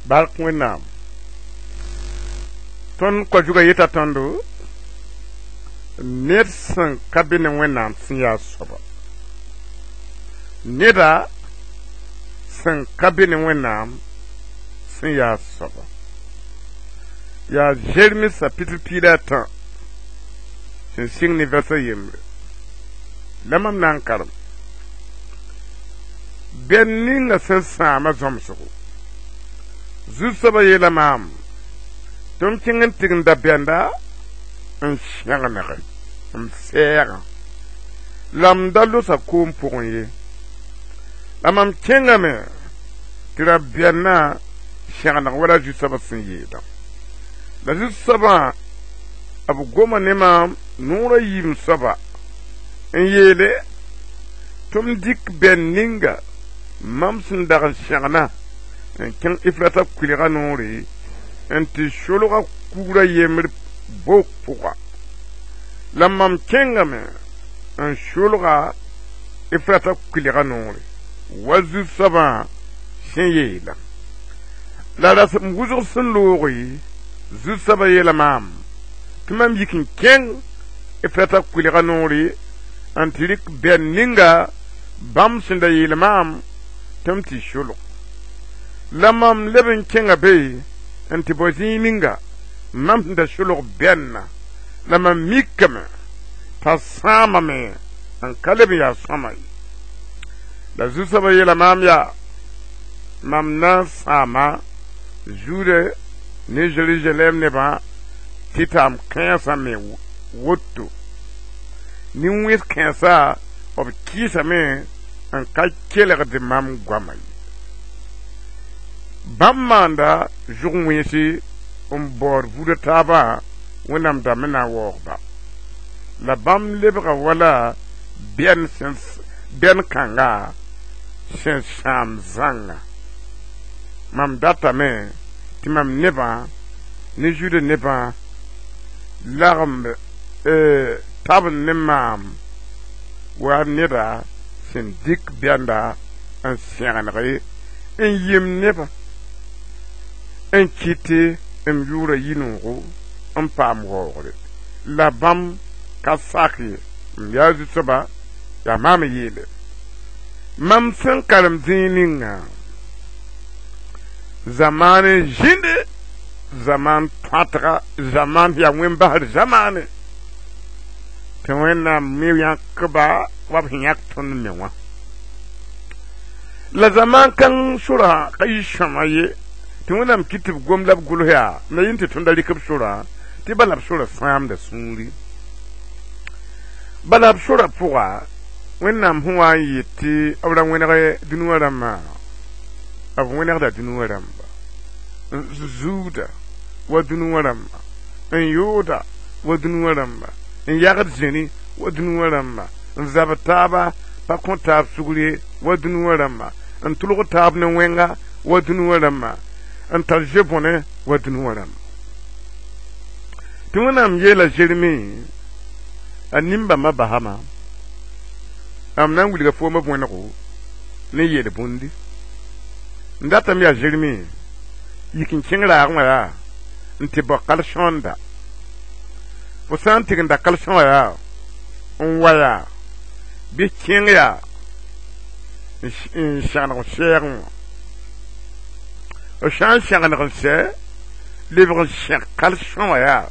Bark Wẽnnaam. Tõnd koa-zugã yeta tõndo ned sẽn ka be ne Wẽnnaam sẽn yaa soaba. Neda sẽn ka be ne Wẽnnaam sẽn yaa soaba. Yaa Zeremi sapitr 13 sẽn sɩng ne vɛrsa yembre. La mam na n karem. Bɛn ninga sẽn sãama zõmsgo. Zu-soabã yeela maam tɩ m kẽng n tigimda bɛnda n sẽgenege m sɛɛgã la m da losa koom pʋgẽ ye. La mam kẽngame tɩ ra bɛnnã sẽgeneg wala zu-soabã sẽn yeelã. La zu-soabã b goma ne maam noorã yiim soaba n yeele tɩ m dɩk bɛn ninga mam sẽn dag n sẽgna n kẽng Efrata kʋɩlga noore n tɩ solga kugrã yembr bok pʋga. La mam kẽngame n solga Efrata kʋɩlga noore wa zu-soabã sẽn yeelã. La rasem wʋsg sẽn looge zu-soabã yeela maam tɩ mam yik n kẽng Efrata kʋɩlga noore n tɩ rɩk bɛn ninga bãmb sẽn da yeel maam tɩ m tɩ solg. La mam leb n kẽnga be n tɩ bao zĩig ninga mam sẽn da solg bɛnna la mam mikame t'a sãamame n ka leb n yaa sõma ye. La zu-soabã yeela maam yaa mam na n sãama Zuda ne Zerusalɛm nebã tɩ taam kãensã me woto. Nin-wẽns kãensa b kɩɩsame n ka kelgd mam goama ye. Bãmb maanda zʋg-wẽnse n baood buudã taabã Wẽnnaam dãmb na n waoog-ba. La bãmb lebga wala bɛn kãnga sẽn sãam zãnga. Mam datame tɩ mam nebã ne Zuda nebã lagem tab ne maam wa neda sẽn dɩk bɛnda n sẽgeneg n yem nebã n kɩt m yʋʋra yɩ-noogo n paam waoogre. La bãmb ka sak ye. M yaa zu-soaba yaa maam n yeele. Mam sẽn karem zĩig ninga zamaan n zĩnde zamaan tõatga zamaan yaa wẽn-basd zamaane tɩ Wẽnnaam me yãkba wa b sẽn yãk tõnd me wã. La zamaan kãng sorã ka yɩ sõma ye tɩ Wẽnnaam kɩt tɩ b gom la b gʋls yaa m la yĩn tɩ tõnda rɩk b sorã tɩ bala b sorã sãamda sũuri. Bala b sorã pʋga Wẽnnaam sẽn wa n yet tɩ b ra wẽneg dũni wã rãmbã b wẽnegda dũni wã rãmba n zuuda wa dũni wã rãmba n yooda wa dũni wã rãmba n yagd zĩni wa dũni wã rãmba n zab taaba pa kõ taab sugr ye wa dũni wã rãmba n tʋlg taab ne wẽnga wa dũni wã rãmba n tar ze-bõne wa dũni wã rãmba. Tɩ Wẽnnaam yeela Zeremi a nin-bãmbã basama m na n wilga foomã bõenego ne yel bũndi. N datame yaa Zeremi yik n kẽng raagẽ wã yaa n tɩ bao kal-sõanda. Fo sã n tigenda kal-sõ wã yaa n wa yaa bɩ kẽng yaa n sẽgeneg n sɛɛgẽ wã. B sã n sẽgeneg n sɛ lebg n sẽg kal-sõ wã yaa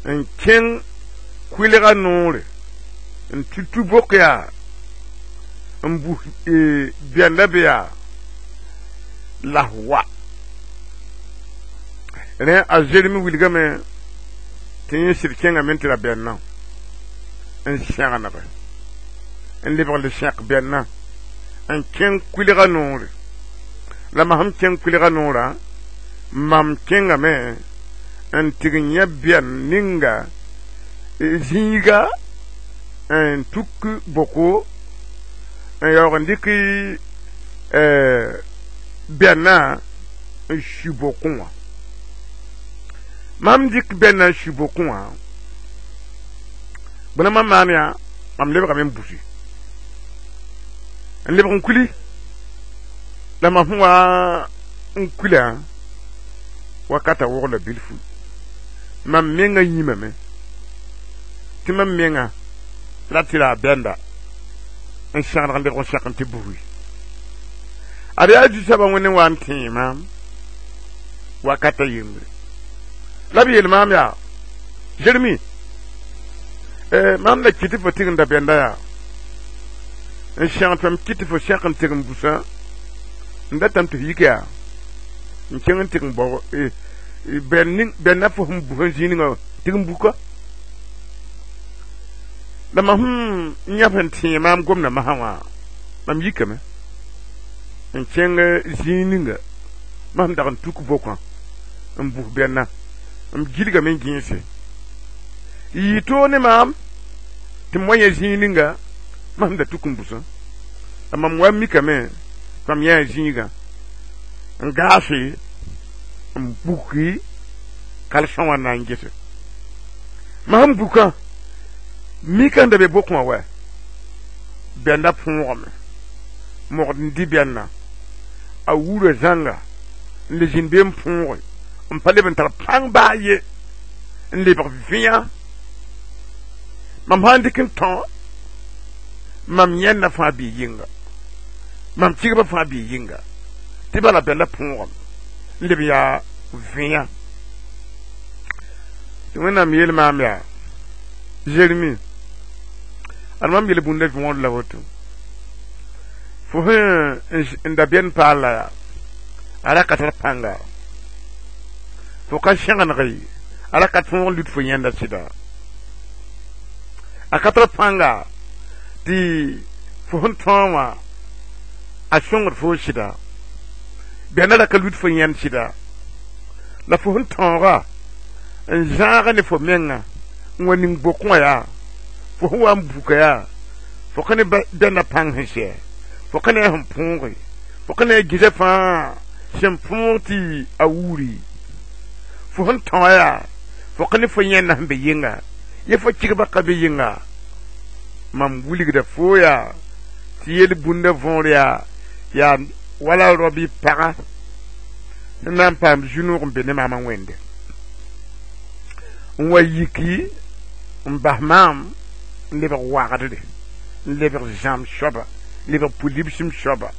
n kẽng kʋɩlga noore n tutu bok yaa n bus bɛnda be yaa la wa. Rẽ a Zeremi wilgame tɩ yẽ sɩd kẽngame tɩ ra bɛnnã n sẽgenege n lebg le sẽk bɛnnã n kẽng kʋɩlga noore. La mam sẽn kẽng kʋɩlga noorã mam kẽngame n tɩg n yã bɛn ninga zĩiga n tuk boko n yaoog n dɩk bɛnnã n su bokẽ wã. Mam dɩk bɛnnã n su bokẽ wã bõe mam maan yaa mam lebgame n busi n lebg n kuli la mam sẽn wa n kula wakata wogla bilfu mam menga yĩmame tɩ mam menga ra tɩ ra a bɛnda n sãgeneg n lebg n sẽk n tɩ bugi ad yaa zu-soabã wẽnd n wa n tẽe maam wakata yembre la b yeel maam yaa Jeremi maam la kɩt fo tɩgenda bɛnda yaa n sẽg tɩ mam kɩt tɩ fo sẽk n tɩg n busã n datame tɩ f yik yaa n kẽng n tɩg n bao bɛnna fo sẽn bus n zĩig ninga tɩg n buka la mam sẽn yãb sẽn tẽe maam gomda masã wã mam yikame n kẽng zĩig ninga mam sẽn dag n tuk bokã n bus bɛnna n gilgame n gẽese yɩ toog ne maam tɩ m wa yẽ zĩig ninga mam sẽn da tuk n busã la mam wa mikame tɩ mam yã zĩigã n gaase n buki kalsã wã na n gese mam sẽn bukã mika n da be bokẽ wã wɛ bɛnda põogame mogd n dɩ bɛnna a wura zãnga n le zĩnd be n põoge n pa leb n tar pãng baa ye n lebg vẽa mam sã n dɩk n tõ mam yẽnda fãa bɩ yɩnga mam tɩgbã fãa bɩ yɩnga tɩ bala bɛnda põogame n leb yaa vẽa tɩ Wẽnnaam yeel maam yaa Jeremi ad mam yel bũnda võor la woto fo sẽn n da bɛn paal la yaa a ra ka tar pãnga fo ka sẽgeneg a ra ka tõog n lut fo yẽnda sɩda a ka tar pãnga tɩ fo sẽn tõog wã a sõngd fo sɩda bɛnda ra ka lut fo yẽnd sɩda la fo sẽn tõoga n zãaga ne fo menga n wa ning bokẽ wã yaa fo sẽn wa n buka yaa fo ka ne bɛnda pãng sẽn sɛ fo ka ne a sẽn põoge fo ka ne a gɩsa fãa sẽn põog tɩ a wuuri fo sẽn tõa yaa fo ka ne fo yẽnda sẽn be yɩnga ye fo kɩgbã ka be yɩnga mam wilgda fo yaa tɩ yel bũnda võor yaa yaa wala rabi paga sẽn na n paam zu-noog n be ne maamã wẽnde n wa yiki n bas maam n lebg wagdre n lebg zãm soaba lebg pʋ-libsem soaba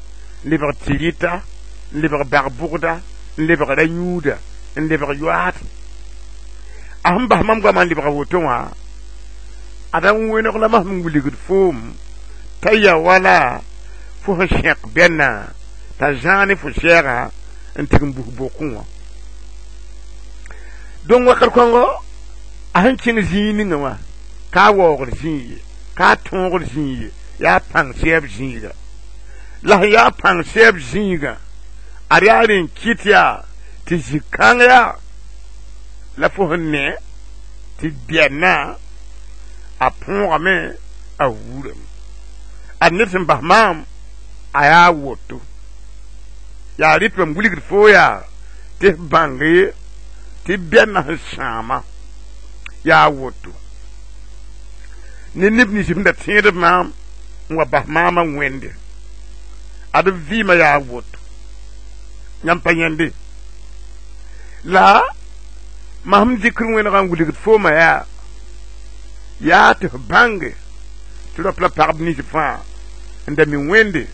n lebg tɩrɩta n lebg bag-bʋgda n lebg ra-yũuda n lebg yoaad a sẽn bas mam goamã n lebga woto wã ada n wẽneg la mam sẽn wilgd foom t'a ya wala fo sẽn sẽk bɛnna t'a zãag ne fo sɛɛga n tɩg n bus bokẽ wã donc wakat kõngo a sẽn kẽng zĩig ninga wã ka a waoogd zĩig ye ka a tõogd zĩig ye yaa pãng sɛɛb zĩiga la sẽn yaa pãng sɛɛb zĩigã ad yaa rẽ n kɩt yaa tɩ zĩ-kãng yaa la fo sẽn ne tɩ bɛnna a põogame a wurame ad ned sẽn bas maam a yaa woto yaa rɩt mam wilgd fo yaa tɩ f bãnge tɩ bɛnna sẽn sãama yaa woto ne neb nins sẽn da tẽedb maam n wa bas maamã wẽnde ad b vɩɩmã yaa woto yãmb pa yẽnde la mam sẽn dɩkr wẽnegã n wilgd foomã yaa yaa tɩ f bãnge tɩ rap la pagb nins fãa n da mi wẽnde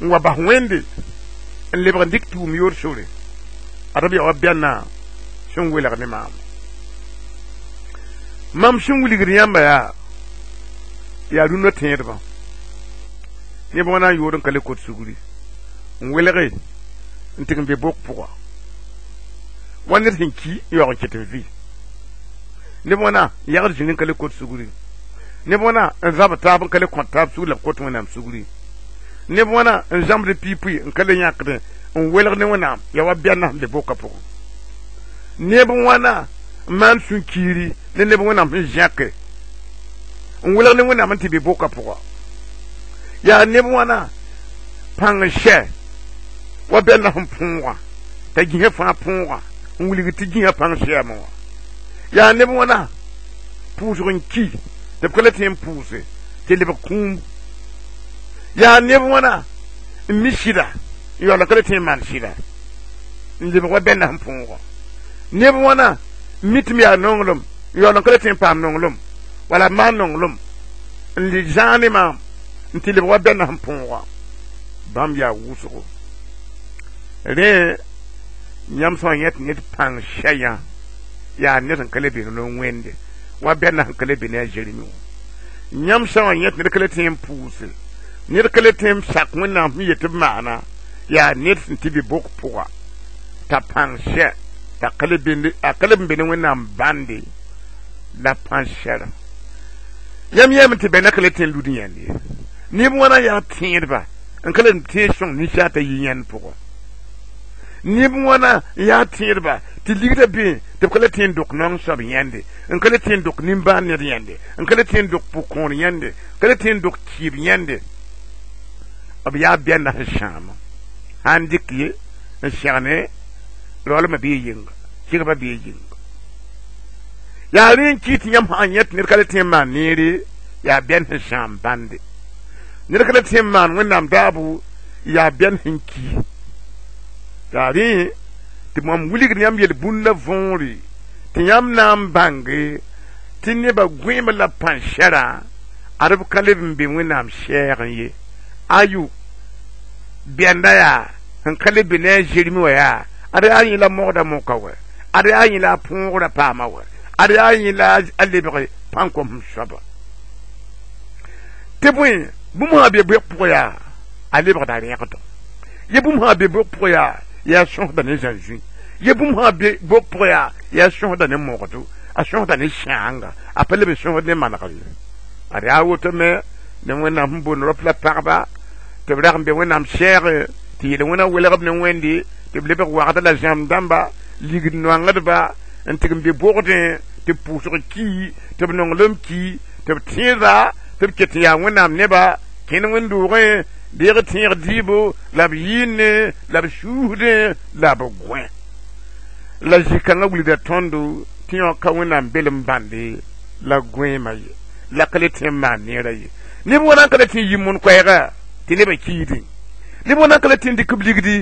n wa bas wẽnde n lebg n dɩk tʋʋm yoor sore ad b yaa wa bɛnna sẽn welg ne maam mam sẽn wilgd yãmba yaa yaa rũndã tẽedbã neb wã na n yood n ka le kot sugri n welge n tɩg n be bok pʋga wa ned sẽn ki n yaoog n ket n vɩ neb wãna n yagd zĩnd n ka le kot sugri neb wãna n zab taab n ka le kõt taab sugr la b kot Wẽnnaam sugri neb wãna n zãmsd piipui n ka le yãkdẽ n welg ne Wẽnnaam yaa wa bɛnna sẽn be bokã pʋgẽ neb wãna n maan sũ-kiiri ne neb Wẽnnaam sẽn zẽke n welg ne Wẽnnaam n tɩ be bokã pʋga yaa neb wãna pãng n sɛ wa bɛnna sẽn põoga t'a gĩsã fãa põoga n wilg tɩ gĩsã pãng sɛɛmẽ wã yaa neb wãna pʋʋsg n ki tɩ b ka le tõe n pʋʋse tɩ lebg kũum yaa neb wãna n mi sɩda N yaool n ka le tõe n maan sɩda n lebg wa bɛnda sẽn põoga neb wãna mi tɩ m yaa nonglem n yaool n ka le tõe n paam nonglem wala b maan nonglem n le zãag ne maam n tɩ lebg wa bɛnda sẽn põoga bãmb yaa wʋsgo rẽ yãmb sã n yẽ tɩ ned pãng sɛyã yaa ned sẽn ka le be ne wẽnde wa bɛnda sẽn ka le be ne a Zeremi wã yãmb sã n yẽ tɩ ned ka le tõe n pʋʋse ned ka le tõe n sak Wẽnnaam sẽn yet tɩ b maana yaa ned sẽn tɩ be bok pʋga t'a pãng sɛ t'a ka le n be ne Wẽnnaam bãnde la pãn sɛra yãmb yɛɛme tɩ bɛnda ka le tõe n lud yãnd ye neb wãna yaa tẽedba n ka le tẽeg sõng ninsaar t'a yi yãnd pʋgã neb wãna n yaa tẽedba tɩ ligda be tɩ b ka le tõe n dok naong soab yãnde n ka le tõe n dok nimbãan ned yãnde n ka le tõe n dok pʋ-kõor yãnde ka le tõe n dok kɩɩb yãnde b yaa bɛnda sẽn sãama sãn dɩk ye n sɛgne raoolmã bee yɩnga kɩgbã bee yɩnga yaa rẽ n kɩ tɩ yãmb sã n yẽ tɩ ned ka le tõe n maan neere yaa bɛn sẽn sãam bãnde ned ka le tõe n maan Wẽnnaam daabo yaa bɛn sẽn ki yaa rẽ tɩ mam wilgd yãmb yel-bũn la võore tɩ yãmb na n bãnge tɩ nebã gõeem la pãn-sɛrã ad b ka leb n be Wẽnnaam sɛɛgẽ ye ayo bɛnda yaa sẽn ka le be ne a Zeremi wã yaa ad yaa yẽ la mogda moka wɛ ad yaa yẽ la a põogrã paama wɛ ad yaa yẽ la a lebg pãn-kom soaba tɩ bõe bũmb sã be bʋg pʋgã yaa a lebgda rẽgdo ye bũmb sã be bʋg pʋgã yaa sõsda ne zãn-zũi ye bũmb sã be bʋg pʋgã yaa sõsda ne mogdo a sõsda ne sãanga a pa leb n sõsd ne manegr ye ad yaa woto me ne Wẽnnaam sẽn boond rap la pagba tɩ b rag n be Wẽnnaam sɛɛge tɩ yel wẽna welg b ne Wẽnde tɩ b lebg wagda la zãmb dãmba ligd noangdba n tɩg n be bogdẽ tɩ b pʋʋsg ki tɩ b nonglem ki tɩ b tẽeda tɩ b ket n yaa Wẽnnaam neba kẽnd wẽnd-doogẽ deeg tẽeg dɩɩbo la b yɩɩne la b suusdẽ la b gõe la zĩ-kãngã wilgda tõndo tɩ yõ ka Wẽnnaam belem bãnde la gõeemã ye la ka le tõe n maan neerã ye neb wãna n ka le tõe n yi moon koɛɛga tɩ nebã kiidẽ neb wãna n ka le tõe n dɩk b ligdi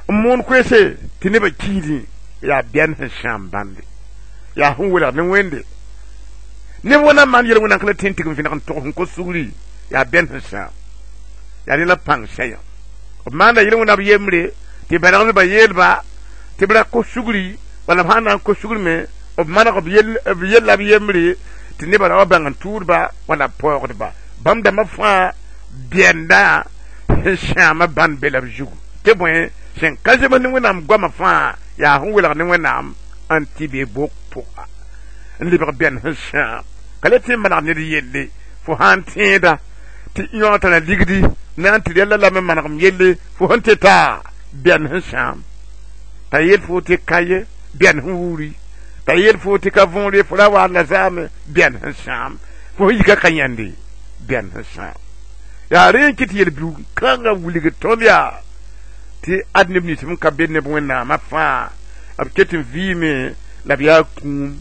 n moon koeese tɩ nebã kiidẽ yaa bɛn sẽn sãam bãnde yaa sẽn welgd ne Wẽnde neb wãna n maan yel-wẽnna n ka le tõe n tig n vẽneg n tog sẽn kos sugri yaa bɛn sẽn sãam yaa rẽ la pãng sɛyã b maanda yel-wẽnna b yembre tɩ bɛlgdbã yeelba tɩ b ra kos sugri wala b sãn na n kos sugr me b maneg b yella b yembre tɩ nebã ra wa bãng n tʋʋdba wala b paoogdba bãmb dãmbã fãa bɛnda sẽn sãama bãnd be la b zugu tɩ bõe sẽn ka zems ne Wẽnnaam goamã fãa yaa sẽn welg ne Wẽnnaam n tɩ be bok pʋga n lebg bɛn sẽn sãam ka le tõe n maneg ned yelle fo sã n tẽeda tɩ yõ tara ligdi na n tɩ rɛlla la me manegem yelle fo sẽn tɩ taa bɛn sẽn sãam t'a yel fo tɩ ka ye bɛn sẽn wuri t'a yel fo tɩ ka võor ye fo ra waad la zaame bɛn sẽn sãam fo sẽn yika ka yãnde bɛn sẽn sãam yaa rẽ n kɩ tɩ yel-biug kãngã wilg tõnd yaa tɩ ad neb nins n ka be neb Wẽnnaamã fãa b ket n vɩɩme la b yaa kũum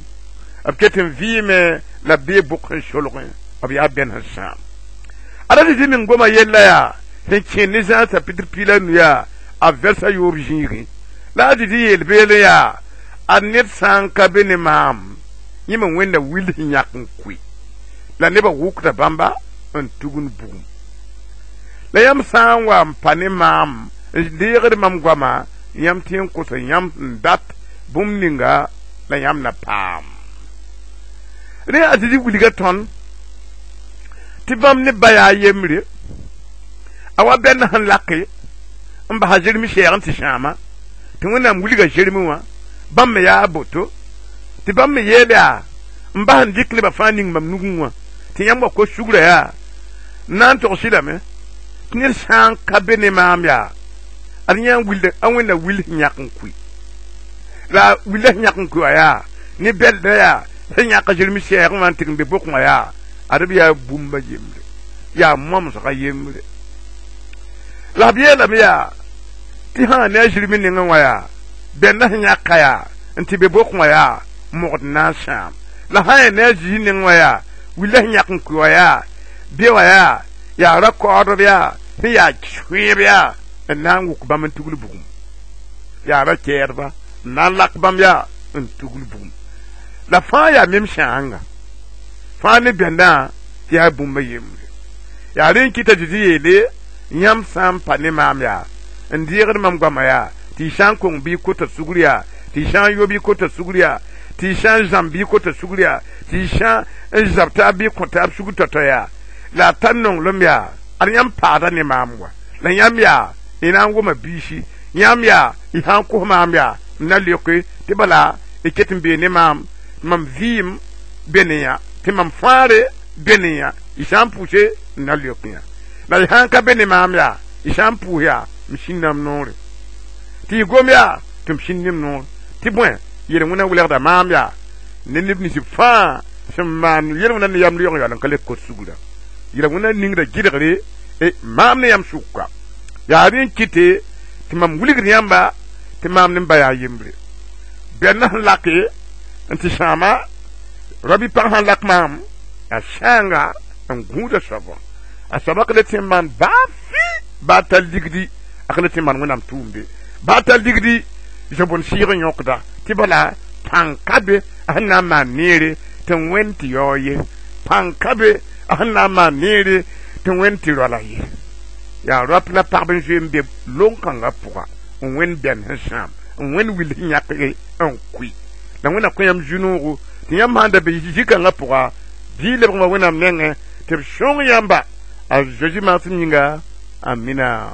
b ket n vɩɩme la b bee bʋk sẽn solgẽ b yaa bɛn sẽn sãam ada Zezi meng goma yella yaa sẽn kẽen ne Zã chapitre 15 yaa a vɛrsa yoob zĩigẽ la a Zezi yeel beelẽ yaa ad ned sã n ka be ne maam yẽ me Wẽnda will sẽn yãk n koe la nebã wʋkda bãmba n tugund bugum la yãmb sã n wa n pa ne maam n deegd mam goama yãmb tɩ n kosa yãmb sẽn dat bũmb ninga la yãmb na paam rẽ a Zezi wilga tõnd tɩ bãmb ne ba yaa yembre a wa bɛnd sẽn lake n basa Zeremi sɛɛg n tɩ sãama tɩ Wẽnnaam wilga Zeremi wã bãmb me yaa boto tɩ bãmb me yeel yaa n bas n dɩk nebã fãa ning mam nugẽ wã tɩ yãmb wa kos sugrã yaa n na n togs lame tɩ ned sã n ka be ne maam yaa ad yã wilda a Wẽnna will sẽn yãk n koe la willa sẽn yãk n koe wã yaa ne bɛlda yaa sẽn yãk Zeremi sɛɛgẽ wã n tɩg n be bokẽ wã yaa ad b yaa bũmba yembre yaa momsga yembre la b yeelame yaa tɩ sã ne a Zeremi nengẽ wã yaa bɛnda sẽn yãka yaa n tɩ be bokẽ wã yaa mogd na n sãam la sã yaa ne a Zezi nengẽ wã yaa willa sẽn yãk n koe wã yaa be wã yaa yaa ra-kaoodb yaa sẽn yaa sõeeb yaa N na n wʋk bãmb n tugl bugum yaa ra kɛɛdba n na n lak bãmb yaa n tugl bugum la fãa yaa mem sãanga fãa ne bɛndã tɩ yaa bũmba yembre yaa rẽ n kɩta Zezi yeele yãmb sã n pa ne maam yaa n deegd mam goama yaa tɩ y sã n kong bɩ y kota sugr yaa tɩ y sã n yo bɩ y kota sugr yaa tɩ y sã n zãmb bɩ y kota sugr yaa tɩ y sã n zab taab bɩ y kõ taab sugr tao-tao yaa la a tar nonglem yaa ad yãmb paada ne maam wa la yãmb yaa y na n wʋma biisi yãmb yaa y sã n kos maam yaa n na leoke tɩ bala y ket n bee ne maam mam vɩɩm be ne yã tɩ mam fãare be ne yã y sã n pʋʋse n na leok yã la y sã n ka be ne maam yaa y sã n pʋʋs yaa m sĩndame noore tɩ y gom yaa tɩ m sĩnd m noor tɩ bõe yel-wẽna welgda maam yaa ne neb nins fãa sẽn maan yel-wẽna ne yam yaoog yaool n ka le kot sugra yel-wẽna ningda gɩdgre maam ne yãmb sʋka yaa rẽ n kɩte tɩ mam wilgd yãmba tɩ maam ne m ba yaa yembre bɛnd sẽn lake n tɩ sãama rabi pag sãn lak maam a sãanga n gũuda soabã a soaba ka le tɩ n maan baa fɩ baa tar ligdi a ka le tɩ n maan wẽnnaam tʋʋmde baa tar ligdi zobon sɩɩg n yõkda tɩ bala pãng ka be a sẽn na n maan neere tɩ wẽnd tɩ yao ye pãng ka be a sẽn na n maan neere tɩ wẽnd tɩ roala ye yaa rap la pagb n zoe n be lon-kãngã pʋga n wẽnd bɛn sẽn sãam n wẽnd wil sẽn yãk n kʋɩ la wẽnna kõ yãmb zu-noogo tɩ yãmb sãn da be zĩ-kãngã pʋga bɩ lebg wã wẽnnaam nengẽ tɩ b sõng yãmba a Zozi maasem yĩnga amina.